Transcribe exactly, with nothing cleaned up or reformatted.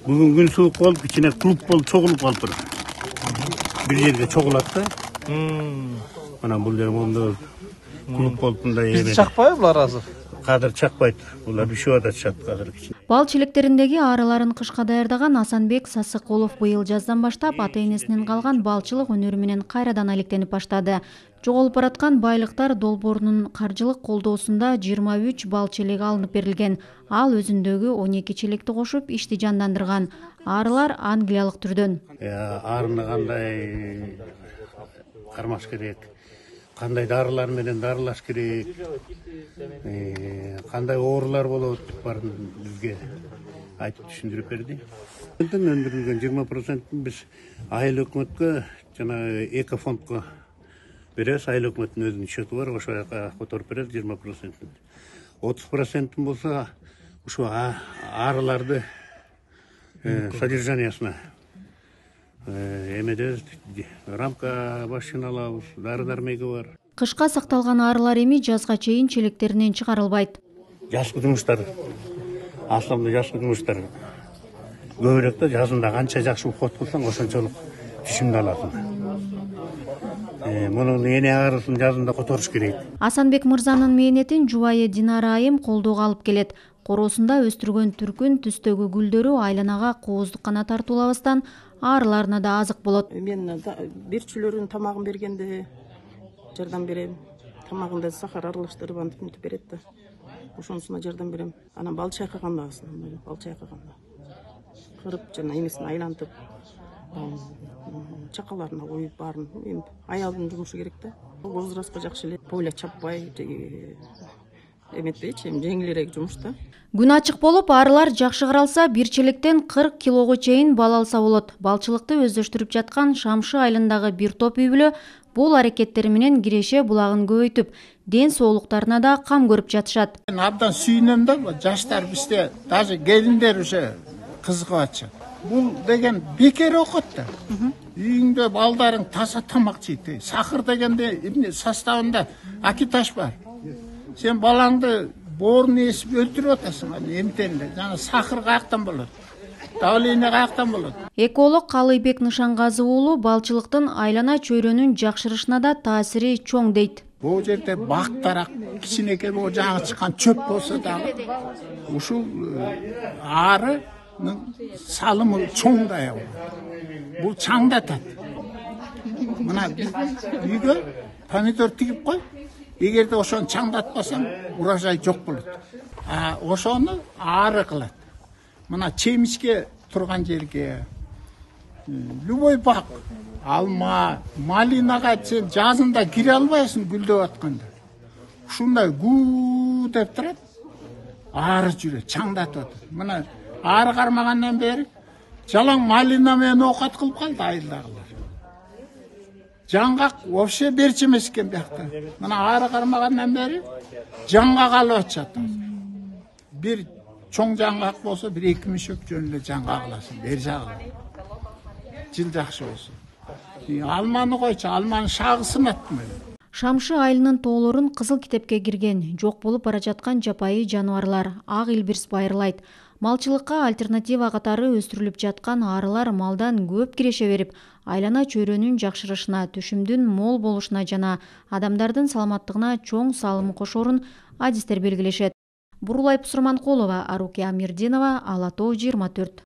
Бүгүн күн суук болуп, кичине клуб болуп, чогулуп калыптыр. Бир жерге чогулат да. Мына бул жер мондо клуб болуп мындай эме. Бизди чакпайбы булар азыр? Кадыр чакпайт. Булар бишип атышат кадыр. Бал челектериндеги арыларын кышка даярдаган Асанбек Сасыкулов быйыл жаздан баштап ата-энесинен калган балчылык өнөрү менен кайрадан алектенип баштады. Жоголуп бараткан байлыктар долбоорунун каржылык колдоосунда жыйырма үч бал челеги алынып берилген. Ал өзүндөгү он эки челекти кошуп ишти жандандырган. Арылар англиялык түрдөн. Арыны кандай кармаш керек, кандай дарылар менен дарылаш керек, кандай оорулар болот, баарын бизге айтып түшүндүрүп берди. Өндүрүлгөн жыйырма процентин биз айыл өкмөткө жана экофондко беребиз. Айыл өкмөттүн өзүнүн счету бар, ошол жака которуп беребиз жыйырма процентин. отуз процентин болсо ушу арыларды содержаниясына эмедебиз, рамка машина алабыз, дары-дармеги бар. Кышка сакталган арылар эми жазга чейин челектеринен чыгарылбайт. Жазгы жумуштар, аслында жазгы жумуштар көбүрөөк да, жазында канча жакшы уход кылсаң ошончолук түшүмдү аласың. Мунун эне арысын жазында которуш керек. Асанбек мырзанын мээнетин жубайы Динара айым колдоого алып келет. Короосунда өстүргөн түркүн түстөгү гүлдөрү айланага кооздук гана тартуулабастан арыларына да азык болот. Мен берчүлөрүнүн тамагын бергенде жардам берем. Тамагында сахар аралаштырып антип мынтип берет да. Ошонусуна жардам берем. Анан бал чайкаганда, бал чайкаганда кырып жана эмесин айлантып, чакаларына коюп баарын эми аялдын жумушу керек да. Возрастка жакшы эле, поля чаппай эметпейчи, эми жеңилирээк жумуш да. Күн ачык болуп, арылар жакшы каралса, бир челектен кырк килого чейин бал алса болот. Балчылыкты өздөштүрүп жаткан Шамшы айылындагы бир топ үй бүлө бул аракеттери менен Киреше булагын көбөйтүп, ден соолуктарына да кам көрүп жатышат. Мен абдан сүйүнөм да, жаштар бизде, даже келиндер уже кызыгып атышат. Бул деген бекер окот да. Үйүңдө балдарың таза тамак жейт. Сахар дегенде эмне составында акиташ бар. Сен балаңды боорун эсип өлтүрүп атасың, эмтенде. Жана сахар каяктан болот? Давление каяктан болот? Эколог Калыйбек Нышангазы уулу балчылыктын айлана чөйрөнүн жакшырышына да таасири чоң дейт. Бул жерде бактарак, кичинекей бул жаңы чыккан чөп болсо дагы ушул ары салымы чоң да аябы. Бул чаңдатат. Мына үйгө помидор тигип кой. Эгерде ошону чаңдатпасаң, урожай жок болот. А ошону ары кылат. Мына чемишке турган жерге, любой бак, алма, малинага сен жазында кире албайсың гүлдөп атканда. Ушундай гүү деп турат. Ары жүрөт, чаңдатып атат. Мына ары кармагандан бери жалаң малина менен оокат кылып калды айылдагылар. Жаңгак вообще берчи эмес экен биякта. Мына ары кармагандан бери жаңгак алып атышат. Бир чоң жаңгак болсо, бир эки мишек жөн эле жаңгак аласың, бер жагы. Жыл жакшы болсо. Алманы койчу, алманын шагысын аттым. Шамшы айылынын тоолорун кызыл китепке кирген, жок болуп бара жаткан жапайы жаныбарлар ак илбирс байырлайт. Малчылыкка альтернатива катары өстүрүлүп жаткан арылар малдан көп киреше берип, айлана чөйрөнүн жакшырышына, түшүмдүн мол болушуна жана адамдардын саламаттыгына чоң салым кошорун адистер белгилешет. Бурулай Пусурманкулова, Арукия Мирдинова, Ала Тоо жыйырма төрт.